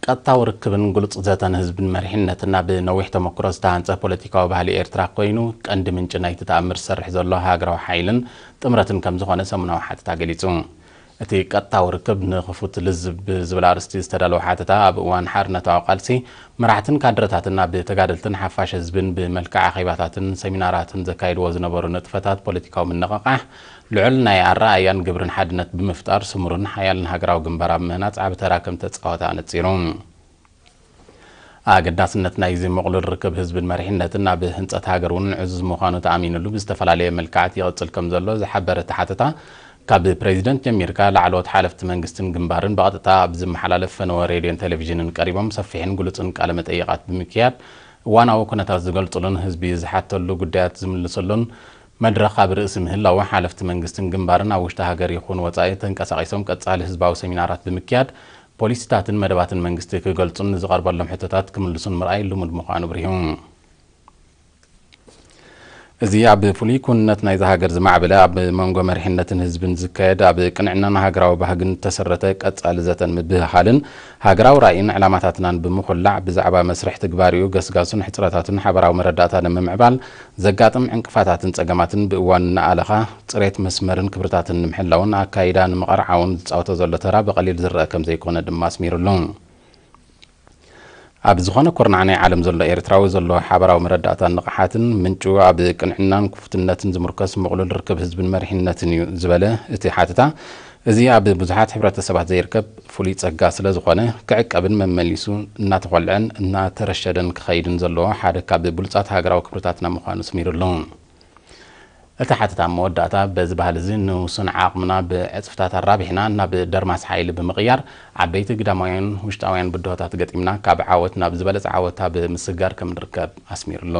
ቀጥታዊ ርክብን ግሉጽ ዘተን ህዝብን መሪሕነትን ናብ ነዊሕ ተመክሮ ዝተሃንጸ ፖለቲካዊ ባህሊ ኤርትራ ኮይኑ፣ ቀንዲ ምንጪ ናይቲ ተኣምር ዝሰርሕ ዘሎ ሃገራዊ ሓይልን ጥምረትን ከም ዝኾነ ሰሙናዊ ሓተታ ገሊጹ። እቲ ቀጥታዊ ርክብ ንኽፉት ልዝብ ብዝብል ኣርእስቲ ዝተዳለወ ሓተታ፣ ኣብ እዋን ሓርነታዊ ቃልሲ መራሕትን ካድረታትን ናብ ተጋደልትን ሓፋሽ ህዝብን ብመልክዕ ኣኼባታትን ሰሚናራትን ዘካይድዎ ዝነበሩ ንጥፈታት ፖለቲካዊ ምንቕቓሕ፣ ልዑል ናይ ኣረኣእያን ግብርን ሓድነት ብምፍጣር፣ ስሙርን ሓያልን ሃገራዊ ግንባር ኣብ ምህናጽ ዓቢ ተራ ከም ተጻወተ ኣነጺሩ። ኣገዳስነት ናይዚ ምቕሉል ርክብ ህዝብን መሪሕነትን ኣብ ህንጸት ሃገር እውን ዕዙዝ ምዃኑ ተኣሚንሉ ብዝተፈላለየ መልክዓት ይቕጽል ከም ዘሎ ዝሓበረ እቲ ሓተታ፣ ካብ ፕሬዚደንት ጀሚርካ ላዕለዎት ሓለፍቲ መንግስትን ግንባርን ብቐጥታ ኣብ ዝመሓላለፍ ፈነወ ሬድዮን ቴሌቪዥንን ቀሪቦም ሰፊሕን ግሉጽን ቃለ መጠይቓት ብምክያድ፣ እዋናዊ ኩነታት ዝገልጹሉን ህዝቢ ዝሓተሉ ጉዳያት ዝምልሰሉን መድረኽ ኣብ ርእሲ ምህላዉ፣ ሓለፍቲ መንግስትን ግንባርን ኣብ ውሽጢ ሃገር ይኹን ወጻኢ ተንቀሳቒሶም ቀጻሊ ህዝባዊ ሰሚናራት ብምክያድ፣ ፖሊሲታትን መደባትን መንግስቲ ክገልጹን ንዝቐርበሎም ሕቶታት ክምልሱን ምርኣይ ልሙድ ምዃኑ ኣብሪሁ። እዚ ኣብ ፍሉይ ኩንነት ናይዛ ሃገር ዝማዕበለ፣ ኣብ መንጎ መሪሕነትን ህዝብን ዝካየድ፣ ኣብ ቅንዕናን ሃገራዊ ባህግን እተሰረተ ቀጻሊ ዘተን ምብህሃልን ሃገራዊ ራእይን ዕላማታትናን ብምኹላዕ፣ ብዛዕባ መስርሕ ትግባሪኡ፣ ገስጋሱን ሕጽረታቱን ሓበራዊ መረዳእታ ንምምዕባል ዘጋጥም ዕንቅፋታትን ጸገማትን ብእዋኑ እናኣለኻ፣ ጽሬት መስመርን ክብርታትን ንምሕላውን ኣካይዳ ንምቐርዓውን ዝጻወቶ ዘሎ ተራ ብቐሊል ዝረኣ ከም ዘይኮነ ድማ ኣስሚሩሉ። ኣብ ዝኾነ ኩርናዕ ናይ ዓለም ዘሎ ኤርትራዊ ዘሎ ሓበራዊ መረዳእታን ንቕሓትን ምንጩ ኣብ ቅንዕናን ክፉትነትን ዝምርኮስ ምቕሉል ርክብ ህዝብን መሪሕነትን እዩ ዝበለ እቲ ሓተታ፣ እዚ ኣብ ብዙሓት ሕብረተሰባት ዘይርከብ ፍሉይ ጸጋ ስለ ዝኾነ፣ ክዕቀብን መመሊሱ እናተኾልዐን እናተረሸደን ክኸይድን ዘለዎ ሓደ ካብ ብሉጻት ሃገራዊ ክብርታትና ምዃኑ ኣስሚሩሉ። እቲ ሓተታ ኣብ መወዳእታ፣ በዚ ባህሊ እዚ ንውሱን ዓቕምና ብዕጽፍታት ኣራቢሕና ናብ ደርማስ ሓይሊ ብምቕያር፣ ዓበይቲ ግዳማውያን ውሽጣውያን ብድሆታት ገጢምና፣ ካብ ዓወት ናብ ዝበለጸ ዓወት ኣብ ምስግጋር ከም ንርከብ ኣስሚሩሉ።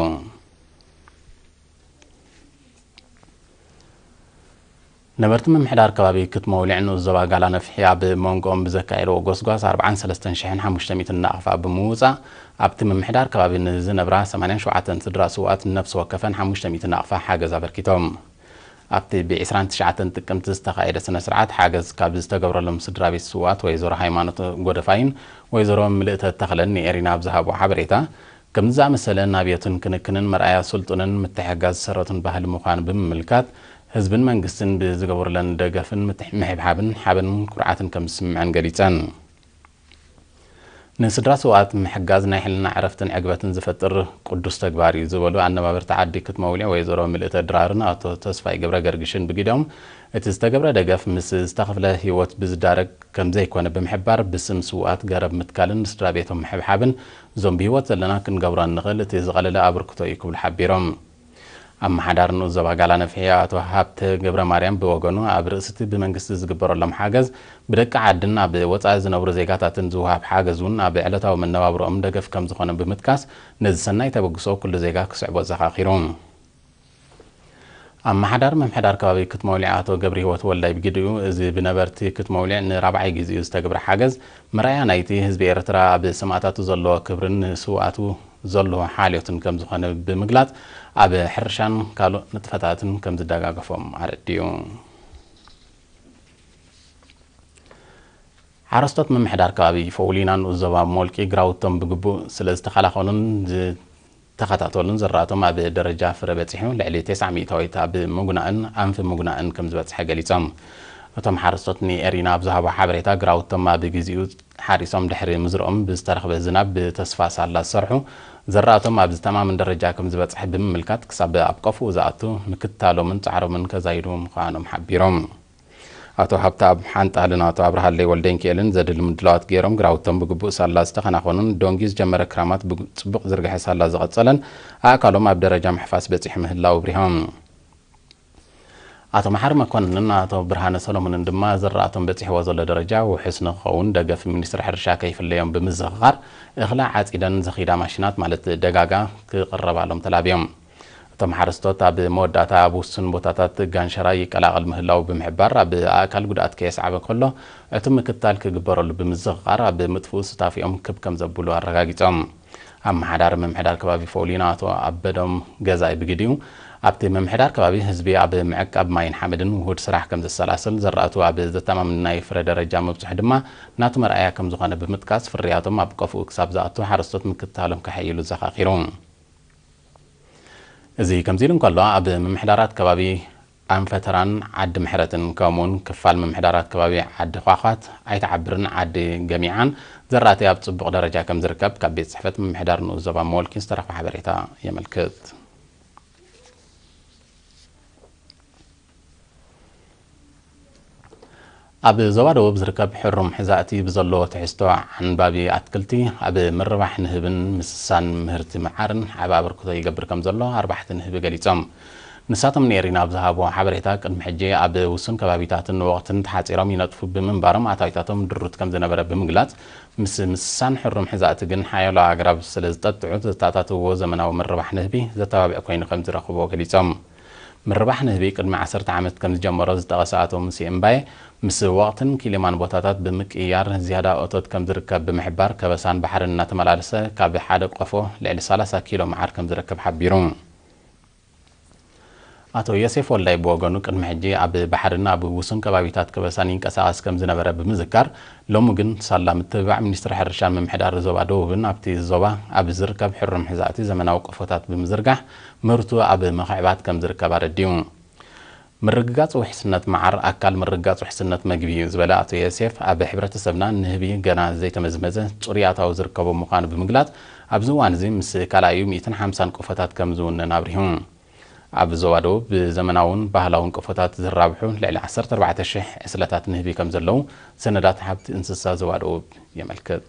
ነበርቲ ምምሕዳር ከባቢ ክትመውሊዕ ንኡስ ዞባ ጋላ ነፍሒ ኣብ መንጎኦም ብዘካየድዎ ጎስጓስ ኣርባዓን ሰለስተን ሽሕን ሓሙሽተ ሚእትን ናቕፋ ብምውጻእ፣ ኣብቲ ምምሕዳር ከባቢ ንዝነብራ ሰማንያን ሸውዓተን ስድራ ስውኣት ነፍሲ ወከፈን ሓሙሽተ ሚእቲ ናቕፋ ሓገዝ ኣበርኪቶም። ኣብቲ ብ ዕስራን ትሽዓተን ጥቅምቲ ዝተኻየደ ስነ ስርዓት፣ ሓገዝ ካብ ዝተገብረሎም ስድራ ቤት ስውኣት ወይዘሮ ሃይማኖት ጎደፋይን ወይዘሮ ምልእተ ተኽለን ንኤሪና ኣብ ዝሃቦ ሓበሬታ፣ ከምዚ ዝኣመሰለ ናብዮትን ክንክንን መርኣያ ስልጡንን ምትሕግጋዝ ዝሰረቱን ባህሊ ምዃኑ ብምምልካት፣ ህዝብን መንግስትን ብዝገብሩለን ደገፍን ምትሕ-፣ ምሕብሓብን ሓበንን ኩርዓትን ከም ዝስምዐን ገሊጸን። ንስድራ ስውኣት ምሕጋዝ ናይ ሕልና ዕረፍትን ዕግበትን ዝፈጥር ቅዱስ ተግባር እዩ ዝበሉ ኣነባበርቲ ዓዲ ክትመውሊዕ ወይዘሮ ምልእተ ድራርን ኣቶ ተስፋይ ገብረ ገርግሽን ብግዲኦም፣ እቲ ዝተገብረ ደገፍ ምስ ዝተኸፍለ ህይወት ብዝዳረግ ከም ዘይኮነ ብምሕባር፣ ብስም ስውኣት ገረብ ምትካልን ንስድራ ቤቶም ምሕብሓብን፣ እዞም ብህይወት ዘለና ክንገብሮ እንኽእል እቲ ዝቐለለ ኣበርክቶ እዩ ክብሉ ሓቢሮም። ኣመሓዳሪ ንኡስ ዞባ ጋላ ነፍሒ ኣቶ ሃብተ ገብረ ማርያም ብወገኑ፣ ኣብ ርእሲ እቲ ብመንግስቲ ዝግበረሎም ሓገዝ፣ ብደቂ ዓድን ኣብ ወጻኢ ዝነብሩ ዜጋታትን ዝወሃብ ሓገዝ እውን ኣብ ዕለታዊ መነባብሮኦም ደገፍ ከም ዝኾነ ብምጥቃስ፣ ነዚ ሰናይ ተበግሶ ኩሉ ዜጋ ክስዕቦ ኣዘኻኺሩ። ኣመሓዳሪ ምምሕዳር ከባቢ ክትመውሊዕ ኣቶ ገብረህይወት ወልዳይ ብግዲኡ፣ እዚ ብነበርቲ ክትመውሊዕ ንራብዓይ ግዜኡ ዝተገብረ ሓገዝ፣ መርኣያ ናይቲ ህዝቢ ኤርትራ ኣብ ሰማእታቱ ዘለዎ ክብርን ንስውኣቱ ዘለዎ ሓልዮትን ከም ዝኾነ ብምግላጽ፣ ኣብ ሕርሻን ካልእ ንጥፈታትን ከም ዝደጋገፎም ኣረዲኡ። ሓረስቶት ምምሕዳር ከባቢ ፈውሊና ንኡስ ዞባ ሞልቂ ግራውቶም ብግቡእ ስለ ዝተኸላኸሉን ዝተኸታተሉን፣ ዝራእቶም ኣብ ደረጃ ፍረ በጺሑ ልዕሊ ተስዓ ሚእታዊት ኣብ ምጉናእን ኣንፊ ምጉናእን ከም ዝበጽሐ ገሊጾም። እቶም ሓረስቶት ንኤሪና ኣብ ዝሃቦ ሓበሬታ፣ ግራውቶም ኣብ ግዜኡ ሓሪሶም ድሕሪ ምዝርኦም ብዝተረኽበ ዝናብ ብተስፋ ሳላ ዝሰርሑ፣ ዘራእቶም ኣብ ዝተማምን ደረጃ ከም ዝበጽሐ ብምምልካት፣ ክሳብ ኣብ ቀፍኡ ዝኣቱ ምክትታሎምን ጻዕሮምን ከዛይዱ ምዃኖም ሓቢሮም። ኣቶ ሃብተኣብ ሓንጣልን ኣቶ ኣብርሃለይ ወልደንኪኤልን ዘድሊ ምድላዋት ገይሮም፣ ግራውቶም ብግቡእ ሳላ ዝተኸናኸኑን፣ ዶንጊ ዝጀመረ ክራማት ብጽቡቕ ዝርግሐ ሳላ ዝቐጸለን፣ ኣእካሎም ኣብ ደረጃ ምሕፋስ በጺሑ ምህላው ኣብሪሆም። ኣቶ መሓሪ መኮንንን ኣቶ ብርሃነ ሰሎሞንን ድማ፣ ዝራእቶም በጺሕዎ ዘሎ ደረጃ ውሑስ ንክኸውን፣ ደገፍ ሚኒስትሪ ሕርሻ ከይፍለዮም ብምዝኽኻር፣ እኽሊ ዓጺደን ዝኺዳ ማሽናት፣ ማለት ደጋጋ፣ ክቕረባሎም ተላብዮም። እቶም ሓረስቶት፣ ኣብ መወዳእታ ኣብ ውሱን ቦታታት ጋንሸራ ይቀላቐል ምህላው ብምሕባር፣ ኣብ ኣእካል ጉድኣት ከየስዓበ ከሎ፣ ዕቱብ ምክትታል ክግበረሉ ብምዝኽኻር፣ ኣብ ምጥፍኡ ሱታፌኦም ክብ ከም ዘብሉ ኣረጋጊጾም። ኣመሓዳሪ ምምሕዳር ከባቢ ፈውሊና ኣቶ ኣበዶም ገዛኢ ብግዲኡ፣ ኣብቲ ምምሕዳር ከባቢ ህዝቢ ኣብ ምዕቃብ ማይን ሓመድን ውሁድ ስራሕ ከም ዘሰላስል፣ ዘራእቱ ኣብ ዘተማምን ናይ ፍረ ደረጃ ምብፅሑ ድማ ናቱ መርኣያ ከም ዝኾነ ብምጥቃስ፣ ፍርያቶም ኣብ ቀፍኡ ክሳብ ዝኣቱ ሓረስቶት ምክትታሎም ከሐይሉ ዘኻኺሩ። እዚ ከምዚ ኢሉ እንከሎ፣ ኣብ ምምሕዳራት ከባቢ ኣንፈተራን ዓዲ ምሕረትን ከምኡውን ክፋል ምምሕዳራት ከባቢ ዓዲ ኳኳት፣ ኣይተዓብርን ዓዲ ገሚዓን ዘራእቲ ኣብ ጽቡቕ ደረጃ ከም ዝርከብ ካብ ቤት ጽሕፈት ምምሕዳር ንኡስ ዞባ ሞልኪን ዝተረኽበ ሓበሬታ የመልክት። ኣብ ዞባ ደቡብ ዝርከብ ሕሩም ሕዛእቲ ብዘለዎ ትሕዝቶ ዓንባቢ ኣትክልቲ ኣብ ምርባሕ ንህብን ምስሳን ምህርቲ መዓርን ዓቢ ኣበርክቶ ይገብር ከም ዘሎ ኣርባሕቲ ንህቢ ገሊጾም። ንሳቶም ንኤሪና ኣብ ዝሃብዎ ሓበሬታ፣ ቅድሚ ሕጂ ኣብ ውሱን ከባቢታትን ወቕትን ተሓጺሮም ይነጥፉ ብምንባሮም ኣታዊታቶም ድሩት ከም ዝነበረ ብምግላጽ፣ ምስ ምስሳን ሕሩም ሕዛእቲ ግን ሓያሎ ኣግራብ ስለ ዝጠጥዑ፣ ዘተኣታትውዎ ዘመናዊ ምርባሕ ንህቢ ዘተባብዕ ኮይኑ ከም ዝረኽብዎ ገሊጾም። ምርባሕ ንህቢ ቅድሚ ዓሰርተ ዓመት ከም ዝጀመሮ ዝጠቐሰ ኣቶ ሙሴ እምባየ፣ ምስ ወቕትን ኪሊማን ቦታታት ብምቅይያር ዝያዳ እቶት ከም ዝርከብ ብምሕባር፣ ከበሳን ባሕርን እናተመላለሰ ካብ ሓደ ቆፎ ልዕሊ ሰላሳ ኪሎ መዓር ከም ዝረክብ ሓቢሩ። ኣቶ ዮሴፍ ወልዳይ ብወገኑ፣ ቅድሚ ሕጂ ኣብ ባሕርን ኣብ ውሱን ከባቢታት ከበሳን ይንቀሳቐስ ከም ዝነበረ ብምዝካር፣ ሎሚ ግን ሳላ ምትብባዕ ሚኒስትሪ ሕርሻን ምምሕዳር ዞባ ደቡብን ኣብቲ ዞባ ኣብ ዝርከብ ሕሩም ሕዛእቲ ዘመናዊ ቆፎታት ብምዝርጋሕ ምህርቱ ኣብ ምኽዕባት ከም ዝርከብ ኣረዲኡ። ምርግጋጽ ውሕስነት መዓር ኣካል ምርግጋጽ ውሕስነት መግቢ እዩ ዝበለ ኣቶ ዮሴፍ፣ ኣብ ሕብረተሰብና ንህቢ ገና ዘይተመዝመዘ ጽሩይ ኣታዊ ዝርከቦ ምዃኑ ብምግላጽ፣ ኣብዚ እዋን እዚ ምስ ካልኣዩ ሚእትን ሓምሳን ቆፎታት ከም ዝውነን ኣብሪሁ። ኣብ ዞባ ደቡብ ብዘመናውን ባህላውን ቆፎታት ዝራብሑ ልዕሊ ዓሰርተ ኣርባዕተ ሽሕ ዕስለታት ንህቢ ከም ዘለዉ ሰነዳት ሃብቲ እንስሳ ዞባ ደቡብ የመልክት።